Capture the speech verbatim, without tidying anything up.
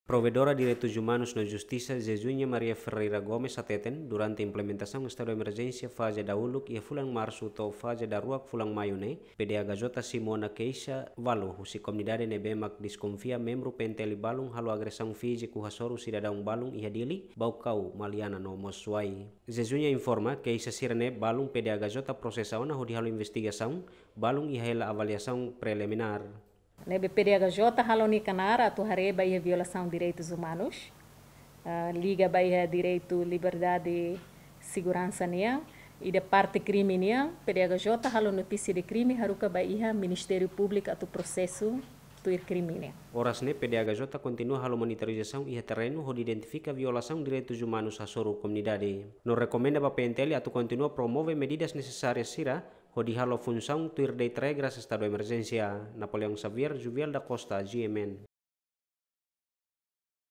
Provedora Direitus Umanus no Justisa, Zezuña Maria Ferreira Gomes, hateten, durante implementasaun estadu emerjénsia faze dahuluk iha fulan Marsu to'o faze daruak fulan Maiu ne'e, P D H J simu ona keixa ualu husi komunidade ne'ebé mak deskonfia membru P N T L balun halo agresaun fíziku hasoru sidadaun balun iha Dili, Baucau, Maliana no mós Suai. Zezuña informa, keixa sira-ne'e balun P D H J prosesa ona hodi halo investigasaun, balun iha hela avaliasaun preliminár. Ne'ebé P D H J halo nia knaar atu haree ba iha violasaun direitus umanus, ah, liga ba iha direitu liberdade seguransa nian, ida parte krime nian, P D H J halo notísia de krime haruka ba iha Ministériu Públiku atu prosesu tuir krime nian. Oras ne'e P D H J kontinua halo monitorizasaun iha terrenu hodi identifika violasaun direitus umanus hasoru komunidade. No rekomenda ba P N T L atu kontinua promove medidas nesesárias sira hodi halo funsaun tuir deit regras estadu emerjénsia. Napoleão Xavier, Juviel da Costa, G M N.